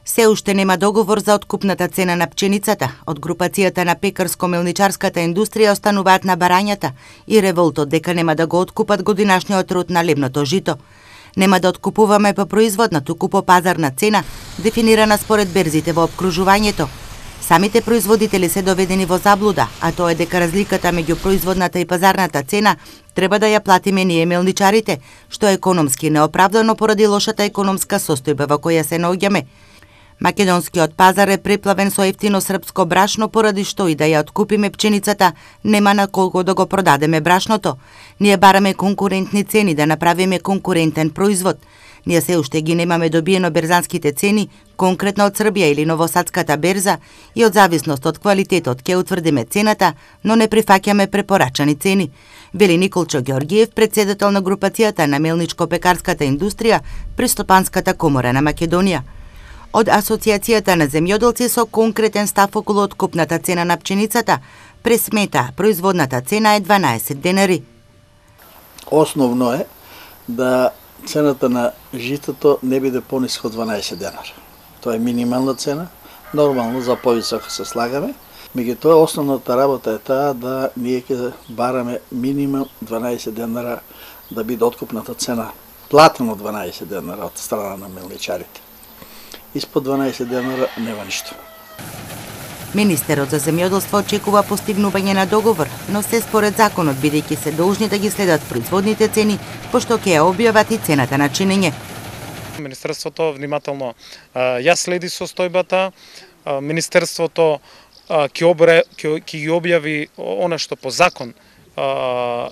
Се уште нема договор за откупната цена на пченицата. Од групацијата на пекарско-мелничарската индустрија остануваат на барањата и револтот дека нема да го откупат годинашниот род на лебното жито. Нема да откупуваме по производна, туку по пазарна цена, дефинирана според берзите во опкружувањето. Самите производители се доведени во заблуда, а тоа е дека разликата меѓу производната и пазарната цена треба да ја платиме ние мелничарите, што е економски неоправдано поради лошата економска состојба во која се наоѓаме. Македонскиот пазар е преплавен со ефтино српско брашно, поради што и да ја откупиме пченицата, нема на колку да го продадеме брашното. Ние бараме конкурентни цени да направиме конкурентен производ. Ние се уште ги немаме добиено берзанските цени, конкретно од Србија или Новосадската берза, и од зависност од квалитетот ќе утврдиме цената, но не прифаќаме препорачани цени, вели Николчо Ѓорѓиев, председател на групацијата на мелничко-пекарската индустрија при Стопанската комора на Македонија. Од Асоциацијата на земјоделци со конкретен став околу откупната цена на пченицата, пресмета производната цена е 12 денари. Основно е да цената на житото не биде пониска од 12 денара. Тоа е минимална цена. Нормално за повисока се слагаме. Меѓутоа основната работа е таа да ние ќе бараме минимум 12 денара да биде откупната цена платено 12 денара од страна на мелничарите. Испод 12 денара нема ништо. Министерот за земјоделство очекува постигнување на договор, но се според законот, бидејќи се должни да ги следат производните цени, пошто ќе ја објават и цената на чинење. Министерството внимателно ја следи состојбата. Министерството ќе ги објави она што по закон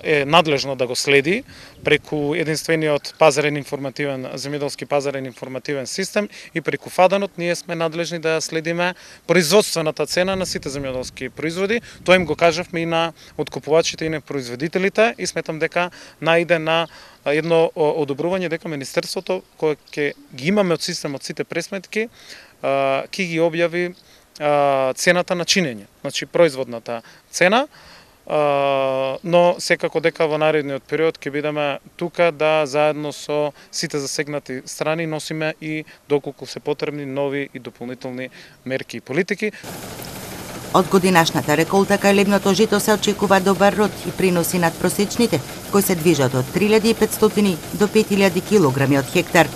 е надлежно да го следи преку единствениот пазарен информативен, земјоделски пазарен информативен систем, и преку ФАДАНот ние сме надлежни да следиме производствената цена на сите земјоделски производи. Тоа им го кажавме и на откупувачите и на производителите, и сметам дека најде на едно одобрување дека Министерството, кое ќе ги имаме од системот сите пресметки, ќе ги објави цената на чинење, значи производната цена. Но секако дека во наредниот период ќе бидеме тука да заедно со сите засегнати страни носиме и доколку се потребни нови и дополнителни мерки и политики. Од годинашната реколта кај лебното жито се очекува добар род и приноси над просечните, кои се движат од 3500 до 5000 килограми од хектар.